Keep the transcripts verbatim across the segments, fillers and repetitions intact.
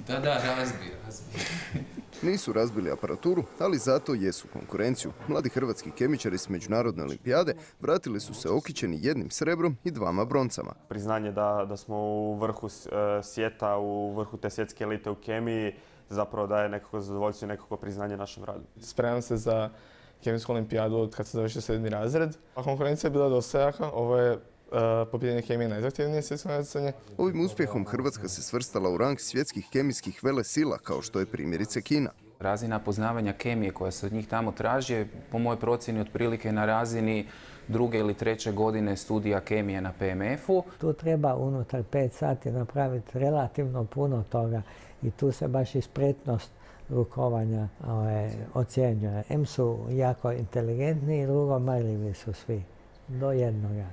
Da, da, razbi, razbi. Nisu razbili aparaturu, ali zato jesu konkurenciju. Mladi hrvatski kemičari s Međunarodne olimpijade vratili su se okićeni jednim srebrom i dvama broncama. Priznanje da, da smo u vrhu svijeta, u vrhu te svjetske elite u kemiji, zapravo daje nekako zadovoljstvo i nekako priznanje našem radu. Spremam se za kemijsku olimpijadu od kad se završio sedmi razred. A konkurencija je bila dosta jaka. Ovo je Uh, po pitanju kemije najzahtjevnije svjetsko natjecanje. Ovim uspjehom Hrvatska se svrstala u rang svjetskih kemijskih velesila, kao što je primjerice Kina. Razina poznavanja kemije koja se od njih tamo traži je, po mojoj procjeni, otprilike na razini druge ili treće godine studija kemije na P M F-u. Tu treba unutar pet sati napraviti relativno puno toga i tu se baš i spretnost rukovanja ovaj, ocjenjuje. Em su jako inteligentni i drugo marljivi su svi, do jednoga.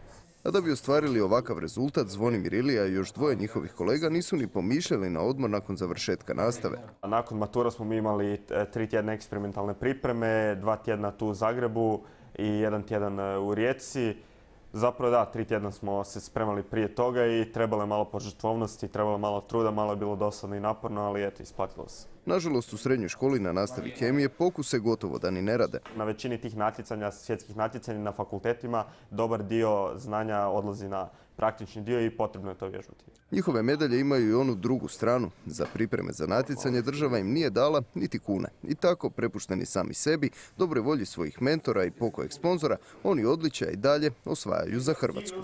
A da bi ostvarili ovakav rezultat, Zvonimir Ilija i još dvoje njihovih kolega nisu ni pomišljali na odmor nakon završetka nastave. Nakon matura smo mi imali tri tjedna eksperimentalne pripreme, dva tjedna tu u Zagrebu i jedan tjedan u Rijeci. Zapravo da, tri tjedna smo se spremali prije toga i trebalo je malo požrtvovnosti, trebalo je malo truda, malo je bilo dosadno i naporno, ali eto, isplatilo se. Nažalost, u srednjoj školi na nastavi kemije pokuse gotovo da ni ne rade. Na većini tih natjecanja, svjetskih natjecanja na fakultetima, dobar dio znanja odlazi na praktični dio i potrebno je to vježbati. Njihove medalje imaju i onu drugu stranu. Za pripreme za natjecanje država im nije dala niti kune. I tako, prepušteni sami sebi, dobre volji svojih mentora i pokojeg sponzora, oni odličja i dalje osvajaju za Hrvatsku.